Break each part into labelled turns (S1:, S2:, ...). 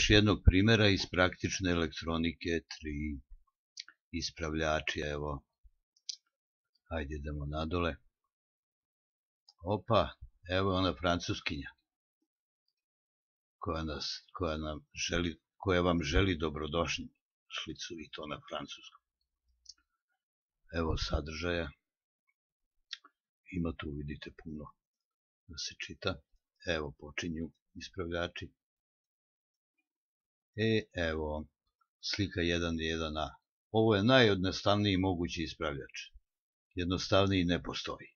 S1: još jednog primjera iz praktične elektronike 3. Ispravljači, evo. Hajde idemo nadole. Opa, evo ona francuskinja koja vam želi dobrodošlicu i to na francuskom. Evo sadržaja. Ima tu, vidite, puno da se čita. Evo počinju ispravljači. Evo, slika 1.1a. Ovo je najjednostavniji mogući ispravljač. Jednostavniji ne postoji.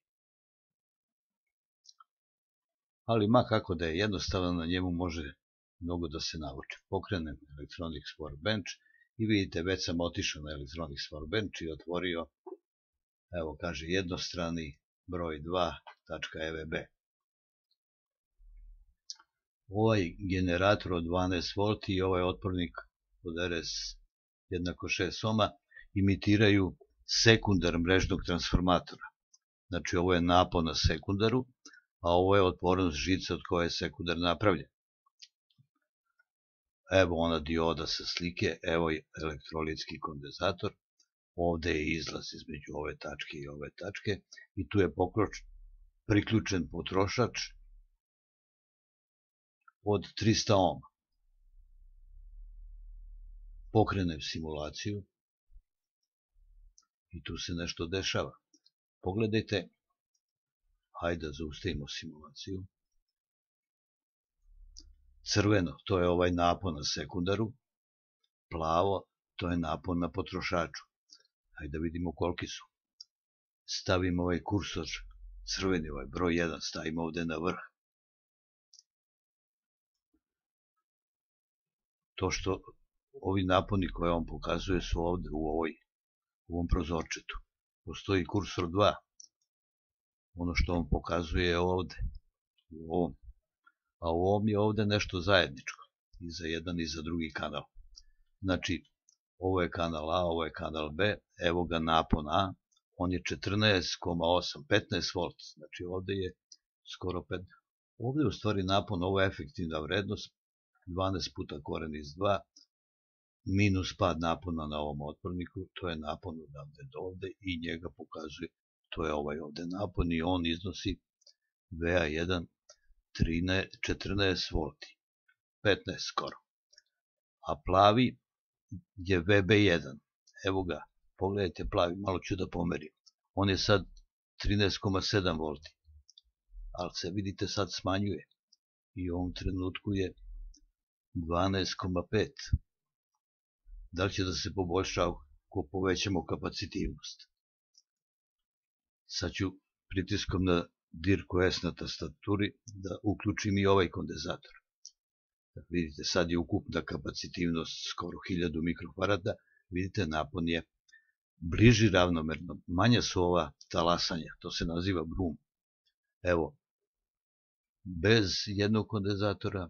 S1: Ali ma kako da je jednostavno, na njemu može mnogo da se nauči. Pokrenem Electronics Workbench i vidite, već sam otišao na Electronics Workbench i otvorio, evo kaže jednostrani broj 2.evb. Ovaj generator od 12 V i ovaj otpornik od RS jednako 6 ohma imitiraju sekundar mrežnog transformatora. Znači ovo je napon na sekundaru, a ovo je otpornost žice od koje je sekundar napravljen. Evo ona dioda sa slike, evo je elektrolitski kondenzator, ovde je izlaz između ove tačke i ove tačke i tu je priključen potrošač od 300 ohma. Pokrenem simulaciju i tu se nešto dešava. Pogledajte, hajde da zaustavimo simulaciju. Crveno, to je ovaj napon na sekundaru, plavo, to je napon na potrošaču. Hajde da vidimo koliki su. Stavimo ovaj kursor, crveni, ovaj broj 1, stavimo ovde na vrh. To što ovi naponi koje on pokazuje su ovde u ovom prozorčetu. Postoji kursor 2. Ono što on pokazuje je ovde, u ovom. A u ovom je ovde nešto zajedničko, i za jedan i za drugi kanal. Znači, ovo je kanal A, ovo je kanal B, evo ga napon A, on je 14,8, 15 V, znači ovde je skoro 15. Ovde je u stvari napon, ovo je efektivna vrednost, 12 puta koren iz 2, minus pad napona na ovom otporniku, to je napon odavde do ovde i njega pokazuje, to je ovaj ovde napon i on iznosi VA1 14 V, 15 skoro. A plavi je VB1, evo ga, pogledajte plavi, malo ću da pomerim. On je sad 13,7 V, ali se vidite sad smanjuje i u ovom trenutku je 12,5. Da li će da se poboljša ako povećamo kapacitivnost? Sad ću pritiskom na dirku S na tastaturi da uključim i ovaj kondenzator. Vidite, sad je ukupna kapacitivnost skoro 1000 mikrofarada. Vidite, napon je bliži ravnomerno. Manja su ova talasanja, to se naziva brum. Evo, bez jednog kondenzatora,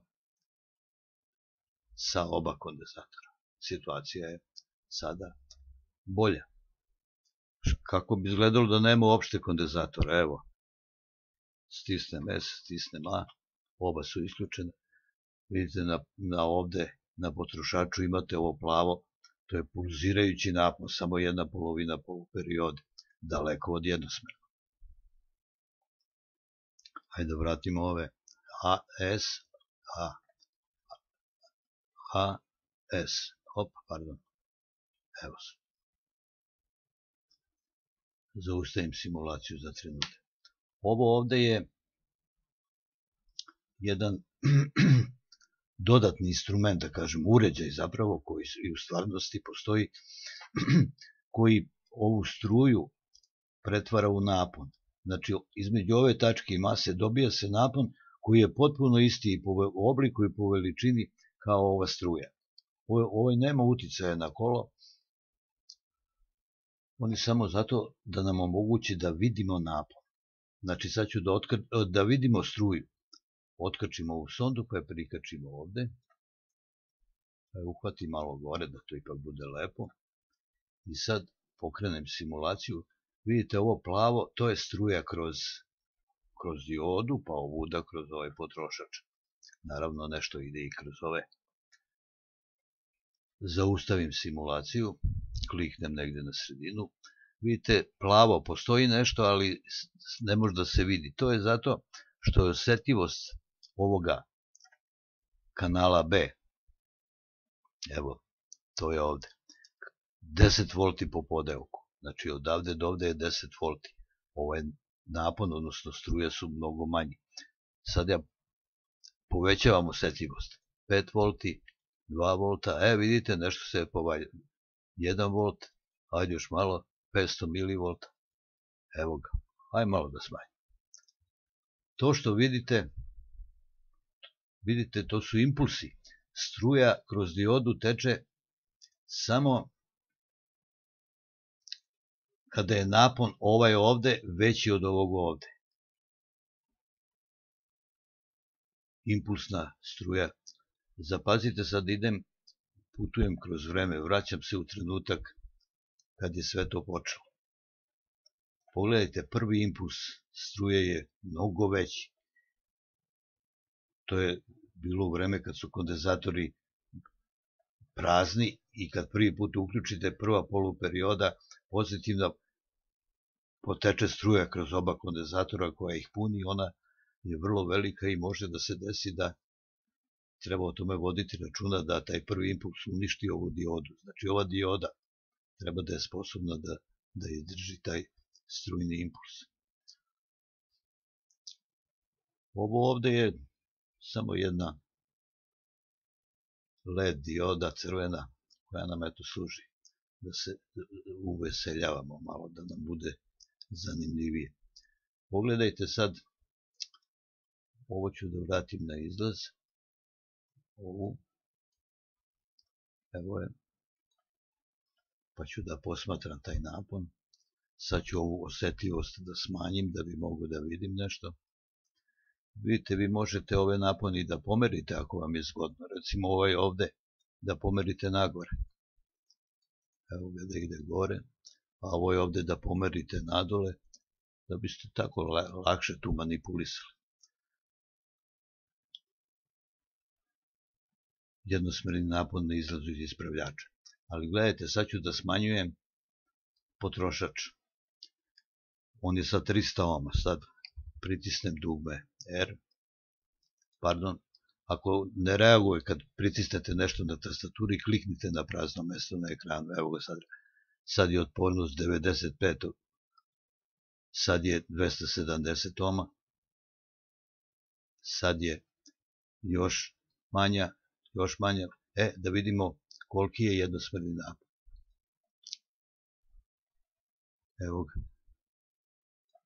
S1: sa oba kondenzatora. Situacija je sada bolja. Kako bi izgledalo da nema uopšte kondenzatora? Evo, stisnem S, stisnem A, oba su isključene. Vidite, ovde na potrošaču imate ovo plavo, to je pulzirajući napon, samo jedna polovina poluperiode, daleko od jednosmernog. Hajde da vratimo ove AS, AS, pardon, evo se. Zaustavim simulaciju za trenutak. Ovo ovde je jedan dodatni instrument, da kažem, uređaj zapravo, koji i u stvarnosti postoji, koji ovu struju pretvara u napon. Znači, između ove tačke i mase dobija se napon koji je potpuno isti i po obliku i po veličini kao ova struja. Ovo nema uticaja na kolo, on je samo zato da nam omogući da vidimo napon. Znači, sad ću da vidimo struju. Otkačimo ovu sondu, pa je prikačimo ovde. Pa je uhvati malo gore, da to ipak bude lepo. I sad pokrenem simulaciju. Vidite, ovo plavo, to je struja kroz diodu, pa ovuda kroz ovaj potrošač. Naravno, nešto ide i kroz ove zaustavim simulaciju, kliknem negdje na sredinu, vidite plavo, postoji nešto, ali ne može da se vidi. To je zato što je osjetljivost ovoga kanala B, evo, to je ovdje, 10 volti po podelku. Znači odavde do ovdje je 10 volti. Ovaj napon, odnosno struje su mnogo manji. Sad ja povećavam osjetljivost. 5 volti, 2 volta, vidite nešto se je povaljalo. 1 volt, ajde još malo, 500 milivolta. Evo ga, ajde malo da smanjim. To što vidite, to su impulsi. Struja kroz diodu teče samo kada je napon ovaj ovde veći od ovog ovde. Impulsna struja. Zapazite, sad putujem kroz vreme, vraćam se u trenutak kad je sve to počelo. Pogledajte, prvi impuls struje je mnogo veći. To je bilo u vreme kad su kondenzatori prazni i kad prvi put uključite prva poluperioda, pozitivna poteče struja kroz oba kondenzatora koja ih puni, ona je vrlo velika i može da se desi da treba o tome voditi računa da taj prvi impuls uništi ovu diodu. Znači ova dioda treba da je sposobna da izdrži taj strujni impuls. Ovo ovde je samo jedna LED dioda crvena koja nam eto služi da se uveseljavamo malo, da nam bude zanimljivije. Pogledajte sad, ovo ću da vratim na izlaz, ovu, evo je, pa ću da posmatram taj napon. Sad ću ovu osjetljivost da smanjim da bi mogu da vidim nešto. Vidite, vi možete ove naponi da pomerite ako vam je zgodno. Recimo ovaj ovde da pomerite nagore. Evo ga da ide gore. A ovo je ovde da pomerite nadole, da biste tako lakše tu manipulisali. Jednosmerni napon na izlazu iz ispravljača. Ali gledajte, sad ću da smanjujem potrošač. On je sa 300 ohma. Sad pritisnem dugme R. Pardon, ako ne reaguje kad pritisnete nešto na tastaturi, kliknite na prazno mesto na ekranu. Evo ga sad. Sad je otpornost 95. Sad je 270 ohma. Sad je još manja. Da vidimo koliki je jednosmerni napon. Evo ga.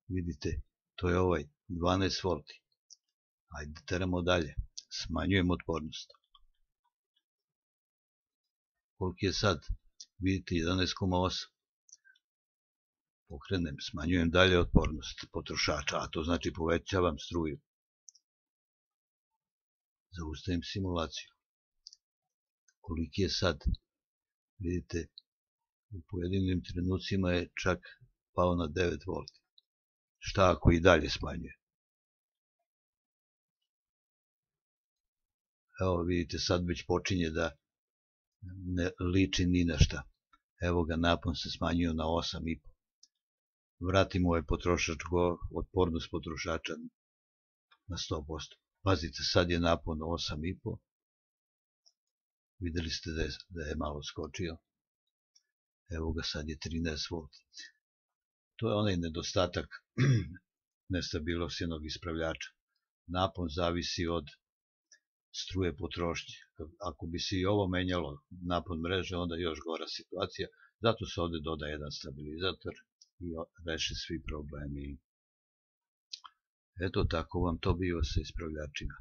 S1: Vidite, to je ovaj 12 volti. Ajde, teramo dalje. Smanjujemo otpornost. Koliki je sad? Vidite, 11,8. Pokrenem, smanjujem dalje otpornost potrošača, a to znači povećavam struju. Zaustavim simulaciju. Koliki je sad? Vidite, u pojedinim trenucima je čak pao na 9 volti. Šta ako i dalje smanjuje? Evo vidite, sad već počinje da ne liči ni na šta. Evo ga, napon se smanjio na 8,5. Vratimo ovaj otpornost potrošača na 100%. Pazite, sad je napon 8,5. Videli ste da je malo skočio. Evo ga, sad je 13 volti. To je onaj nedostatak nestabilnosti ispravljača. Napon zavisi od struje potrošnje. Ako bi se i ovo menjalo, napon mreže, onda je još gora situacija. Zato se ovde doda jedan stabilizator i reši svi problemi. Eto, tako vam to bio sa ispravljačima.